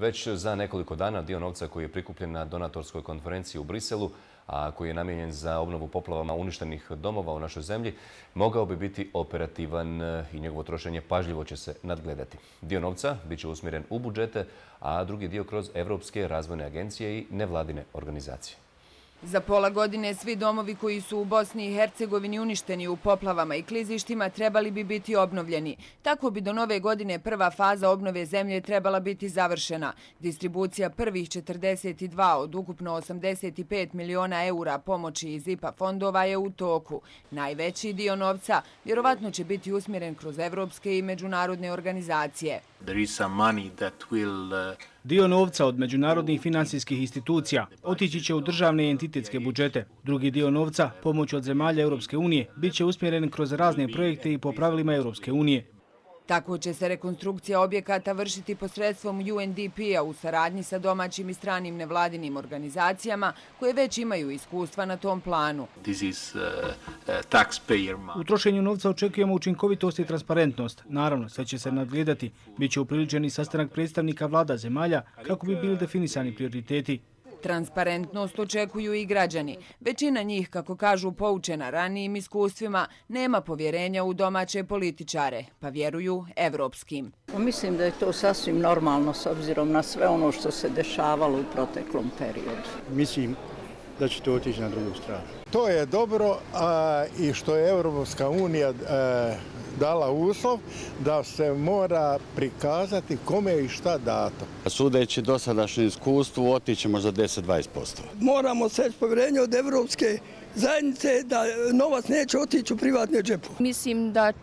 Već za nekoliko dana dio novca koji je prikupljen na donatorskoj konferenciji u Briselu, a koji je namijenjen za obnovu poplavama uništenih domova u našoj zemlji, mogao bi biti operativan i njegovo trošenje pažljivo će se nadgledati. Dio novca bit će usmjeren u budžete, a drugi dio kroz Evropske razvojne agencije i nevladine organizacije. Za pola godine svi domovi koji su u Bosni i Hercegovini uništeni u poplavama i klizištima trebali bi biti obnovljeni. Tako bi do nove godine prva faza obnove zemlje trebala biti završena. Distribucija prvih 42 od ukupno 85 miliona eura pomoći iz IPA fondova je u toku. Najveći dio novca vjerovatno će biti usmjeren kroz evropske i međunarodne organizacije. Dio novca od međunarodnih financijskih institucija otići će u državne i entitetske budžete. Drugi dio novca, pomoć od zemalja Europske unije, bit će usmjeren kroz razne projekte i po pravilima Europske unije. Tako će se rekonstrukcija objekata vršiti posredstvom UNDP-a u saradnji sa domaćim i stranim nevladinim organizacijama koje već imaju iskustva na tom planu. U trošenju novca očekujemo učinkovitost i transparentnost. Naravno, sve će se nadgledati. Biće upriličen i sastanak predstavnika vlada zemalja kako bi bili definisani prioriteti. Transparentnost očekuju i građani. Većina njih, kako kažu poučena ranijim iskustvima, nema povjerenja u domaće političare, pa vjeruju evropskim. Mislim da je to sasvim normalno s obzirom na sve ono što se dešavalo u proteklom periodu. Mislim da će to otići na drugu stranu. To je dobro i što je Europska unija dala uslov da se mora prikazati kome i šta dato. Sudeći dosadašnje iskustvo, otići možda 10-20%. Moramo steći povjerenje od Evropske zajednice da novac neće otići u privatne džepu. Mislim da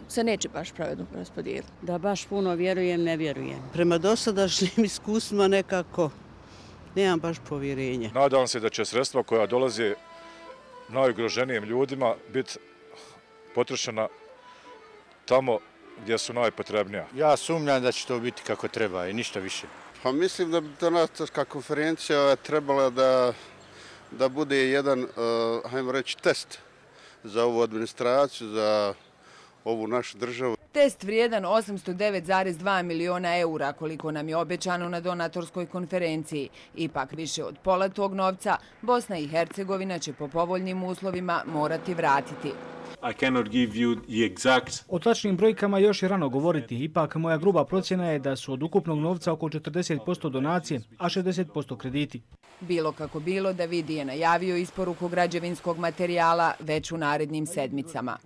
se neće baš pravedno raspodijeliti. Da baš puno vjerujem, ne vjerujem. Prema dosadašnjim iskustvima nekako nemam baš povjerenja. Nadam se da će sredstva koja dolaze najugroženijim ljudima biti potrošena tamo gdje su najpotrebnija. Ja sumnjam da će to biti kako treba i ništa više. Pa mislim da bi donatorska konferencija trebala da bude jedan, hajmo reći, test za ovu administraciju, za ovu našu državu. Test vrijedan 809,2 miliona eura, koliko nam je obećano na donatorskoj konferenciji. Ipak više od pola tog novca Bosna i Hercegovina će po povoljnim uslovima morati vratiti. O tačnim brojkama još je rano govoriti, ipak moja gruba procjena je da su od ukupnog novca oko 40% donacije, a 60% krediti. Bilo kako bilo, David je najavio isporuku građevinskog materijala već u narednim sedmicama.